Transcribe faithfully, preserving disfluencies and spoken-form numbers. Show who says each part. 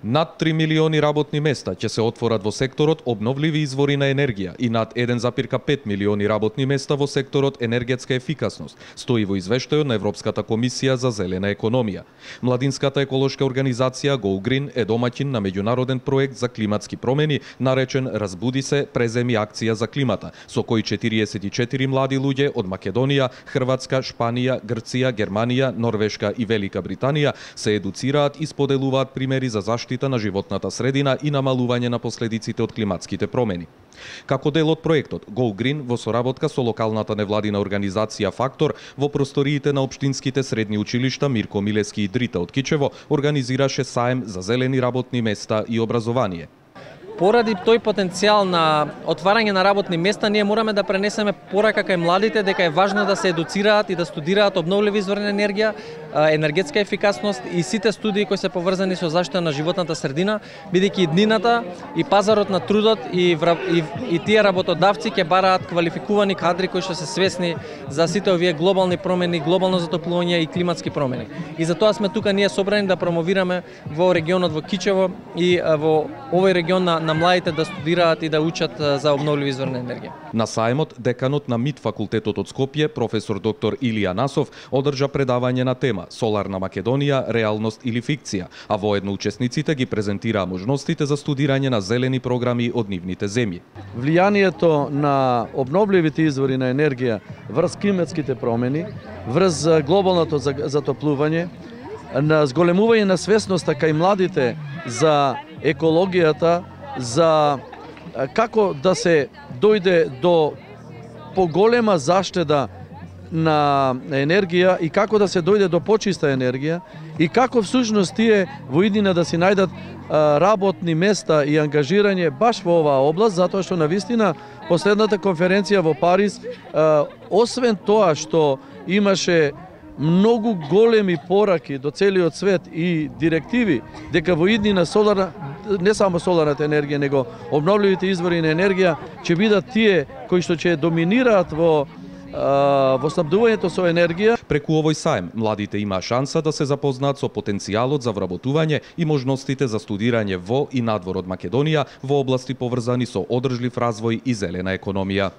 Speaker 1: Над три милиони работни места ќе се отворат во секторот обновливи извори на енергија и над еден запирка пет милиони работни места во секторот енергетска ефикасност, стои во извештајот на Европската комисија за зелена економија. Младинската еколошка организација Go Green е домаќин на меѓународен проект за климатски промени, наречен Разбуди се, преземи акција за климата, со кој четириесет и четири млади луѓе од Македонија, Хрватска, Шпанија, Грција, Германија, Норвешка и Велика Британија се едуцираат и споделуваат примери за заштита на животната средина и намалување на последиците од климатските промени. Како дел од проектот, Go Green во соработка со локалната невладина организација Фактор во просториите на општинските средни училишта Мирко Милески и Дрита од Кичево организираше саем за зелени работни места и образование.
Speaker 2: Поради тој потенцијал на отварање на работни места, ние мораме да пренесеме порака кај младите дека е важно да се едуцираат и да студираат обновливи извори на енергија, енергетска ефикасност и сите студии кои се поврзани со заштита на животната средина, бидејќи и днината и пазарот на трудот и, и, и тие работодавци ќе бараат квалификувани кадри кои што се свесни за сите овие глобални промени, глобално затоплување и климатски промени. И затоа сме тука ние собрани да промовираме во регионот во Кичево и во овој регион на на младите да студираат и да учат за обновливи извори на енергија.
Speaker 1: На саемот, деканот на МИТ факултетот од Скопје, професор доктор Илија Насов, одржа предавање на тема Соларна Македонија, реалност или фикција, а воедно учесниците ги презентираа можностите за студирање на зелени програми од нивните земји.
Speaker 3: Влијанието на обновливите извори на енергија врз климатските промени, врз глобалното затоплување, на зголемување на свесноста кај младите за екологијата, за како да се дојде до поголема заштеда на енергија и како да се дојде до почиста енергија и како всушност тие во иднина да си најдат работни места и ангажирање баш во оваа област, затоа што навистина последната конференција во Париз, освен тоа што имаше многу големи пораки до целиот свет и директиви дека во иднина соларна, не само соларната енергија, него обновливите извори на енергија ќе бидат тие кои што ќе доминираат во во снабдувањето со енергија.
Speaker 1: Преку овој саем, младите имаа шанса да се запознаат со потенцијалот за вработување и можностите за студирање во и надвор од Македонија во области поврзани со одржлив развој и зелена економија.